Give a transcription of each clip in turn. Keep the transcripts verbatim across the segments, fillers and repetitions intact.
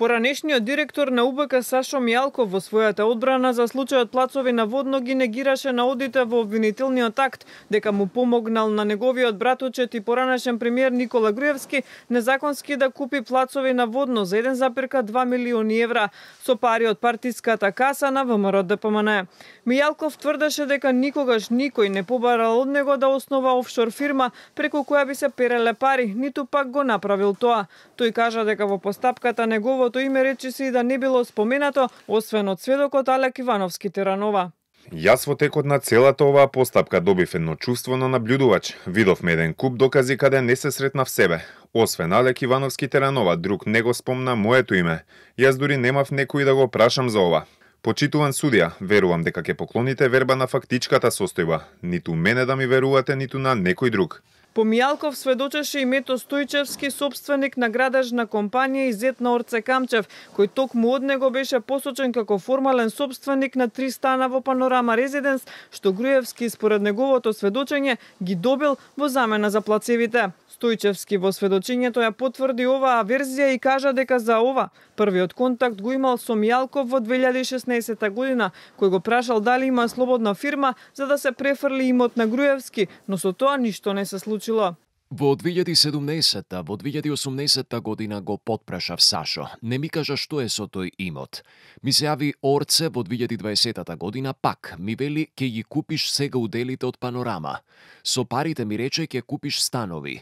Поранешниот директор на У Б К Сашо Мијалков во својата одбрана за случајот Плацови на водно ги негираше наодите во обвинителниот акт дека му помогнал на неговиот братучет и поранешен премиер Никола Груевски незаконски да купи Плацови на водно за еден зарез два милиони евра со пари од партиската каса на В М Р Д П М Н. Мијалков тврдеше дека никогаш никој не побарал од него да основа офшор фирма преку која би се переле пари, ниту пак го направил тоа. Тој кажа дека во постапката неговото име речиси и да не било споменато, освен од сведокот Алек Ивановски Теранова. Јас во текот на целата оваа постапка добив едно чувство на наблюдувач. Видовме еден куп докази каде не се сретнав себе. Освен Алек Ивановски Теранова, друг не го спомна моето име. Јас дури немав некој да го прашам за ова. Почитуван судија, верувам дека ќе поклоните верба на фактичката состојба. Ниту мене да ми верувате, ниту на некој друг. По Мијалков сведочеше и Мето Стојчевски, собственик на градежна компанија и зет на Орце Камчев, кој токму од него беше посочен како формален собственик на три стана во Панорама Резиденс, што Груевски според неговото сведочење ги добил во замена за плацевите. Стојчевски во сведочењето ја потврди оваа верзија и кажа дека за ова првиот контакт го имал со Мијалков во две илјади и шеснаесета година, кој го прашал дали има слободна фирма за да се префрли имот на Груевски, но со тоа ништо не се случило. Во две илјади и седумнаесета, во две илјади и осумнаесета година го потпрашав Сашо. Не ми кажа што е со тој имот. Ми се јави Орце во две илјади и дваесета година пак. Ми вели ќе ги купиш сега уделите од Панорама. Со парите ми рече ќе купиш станови.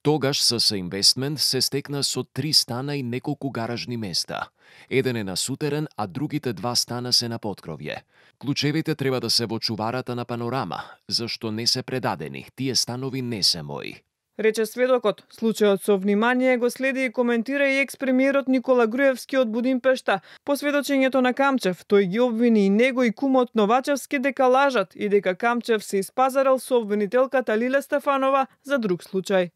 Тогаш СС Инвестмент се стекна со три стана и неколку гаражни места. Еден е на сутерен, а другите два стана се на поткровје. Клучевите треба да се во чуварата на Панорама, зашто не се предадени. Тие станови не се мои. Рече сведокот. Случајот со внимание го следи и коментира и екс-премиерот Никола Груевски од Будимпешта. По сведочењето на Камчев, тој ги обвини и него и кумот Новачевски дека лажат и дека Камчев се испазарал со обвинителката Лиле Стефанова за друг случај.